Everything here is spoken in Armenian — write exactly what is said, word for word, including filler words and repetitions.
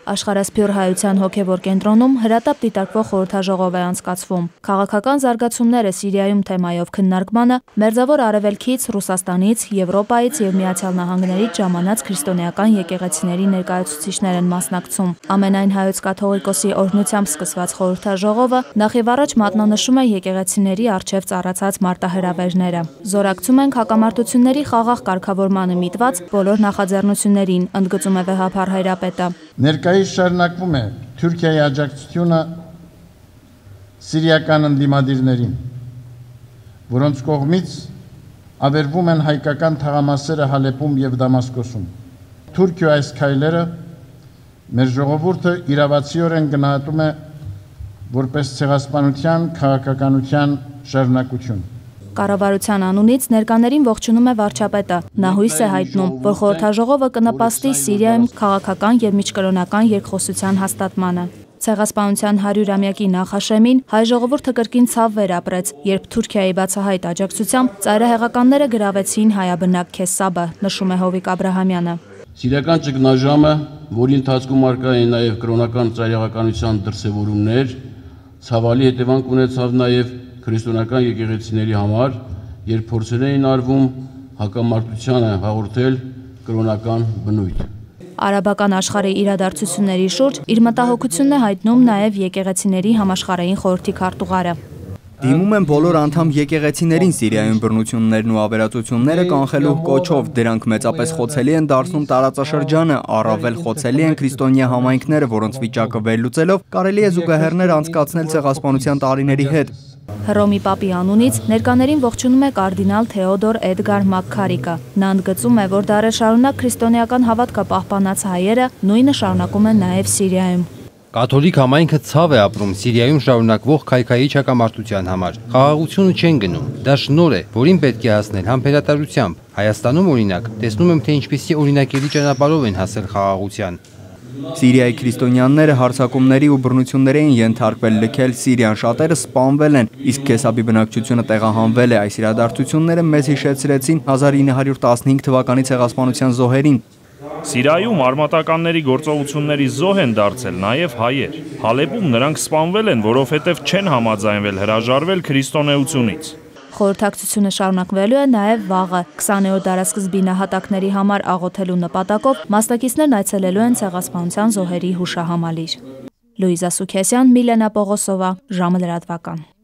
Աշխարհասփյուռ հայության հոգևոր կենտրոնում հրատապ դիտարկվող խորհրդաժողով է անցկացվում։ Քաղաքական զարգացումները Սիրիայում թեմայով քննարկմանը Մերձավոր Արևելքից, Ռուսաստանից, Եվրոպայից եւ Միացյալ Նահանգներից ժամանած քրիստոնեական եկեղեցիների ներկայացուցիչներ են մասնակցում։ Ամենայն հայոց կաթողիկոսի օրհնությամբ սկսված խորհրդաժողովը նախևառաջ մատնանշում է եկեղեցիների առջև ծառացած մարտահրավերները։ Զորակցում ենք հակամարտությունների խաղաղ կարգավորմանը միտված բոլոր նախաձեռնություններին, ընդգծում է վեհափառ հայրապետը։ Ներկայիս շարունակվում է Թուրքիայի աջակցությունը սիրիական ընդդիմադիրներին, որոնց կողմից ավերվում են հայկական թաղամասերը Հալեպում եւ Դամասկոսում։ Թուրքիա այս քայլերը մեր ժողովուրդը իրավացիորեն գնահատում է որպես ցեղասպանության քաղաքականության շարունակություն։ Կառավարության անունից ներկաներին ողջունում է վարչապետը։ Նա հույս է հայտնում, որ խորհրդաժողովը կնպաստի Սիրիայում քաղաքական եւ միջկրոնական երկխոսության հաստատմանը։ Ցեղասպանության հարյուրամյակի նախաշեմին հայ ժողովուրդը կրկին ցավ վերապրեց, երբ Թուրքիայի բացահայտ աջակցությամբ ծայրահեղականները գրավեցին հայաբնակ Քեսաբը, նշում է Հովիկ Աբրահամյանը։ Սիրիական ճգնաժամը, որի ընթացքում արկա էին նաև կրոնական ծայրահեղականության դրսևորումներ, ցավալի հետևանք ունեցավ նաև քրիստոնեական եկեղեցիների համար, երբ փորձեր էին արվում հակամարտությանը հաղորդել կրոնական բնույթ։ Արաբական աշխարհի իրադարձությունների շուրջ իր մտահոգությունն է հայտնում նաև եկեղեցիների համաշխարհային խորհրդի քարտուղարը։ Դիմում են բոլոր անդամ եկեղեցիներին Սիրիայում բռնություններն ու ավերածությունները կանխելու կոչով, դրանք մեծապես խոցելի են դարձնում տարածաշրջանը, առավել խոցելի են քրիստոնյա համայնքները, որոնց վիճակը վերլուծելով կարելի է զուգահեռներ անցկացնել ցեղասպանության տարիների հետ։ Հռոմի Պապի անունից ներկաներին ողջունում է կարդինալ Թեոդոր Էդգար Մակքարիկը։ Նա ընդգծում է, որ դարեր շարունակ քրիստոնեական հավատքը պահպանած հայերը նույնը շարունակում են նաև Սիրիայում։ Կաթոլիկ համայնքը ցավ է ապրում Սիրիայում շարունակվող քայքայիչ հակամարտության համար։ Խաղաղությունը չեն գնում։ Դա շնորհ է, որին պետք է հասնել համբերատարությամբ։ Հայաստանում օրինակ տեսնում եմ, թե ինչպիսի օրինակելի ճանապարհով են հասել խաղաղության։ Սիրիայի քրիստոնյաները հարձակումների ու բռնությունների են ենթարկվել, լքել Սիրիան, շատերը սպանվել են, իսկ Քեսաբի բնակչությունը տեղահանվել է։ Այս իրադարձությունները մեզ հիշեցրեցին հազար ինը հարյուր տասնհինգ թվականի ցեղասպանության զոհերին։ Սիրիայում արմատականների գործողությունների զոհ են դարձել նաև հայեր։ Հալեպում նրանք սպանվել են, որովհետև չեն համաձայնվել հրաժարվել քրիստոնեությունից։ Խորհրդակցությունը շարունակվելու է նաև վաղը։ քսաներորդ դարասկզբի նահատակների համար աղոթելու նպատակով մասնակիցներն այցելելու են ցեղասպանության զոհերի հուշահամալիր։ Լուիզա Սուքեսյան, Միլենա Պողոսովա, ժամը լրատվական։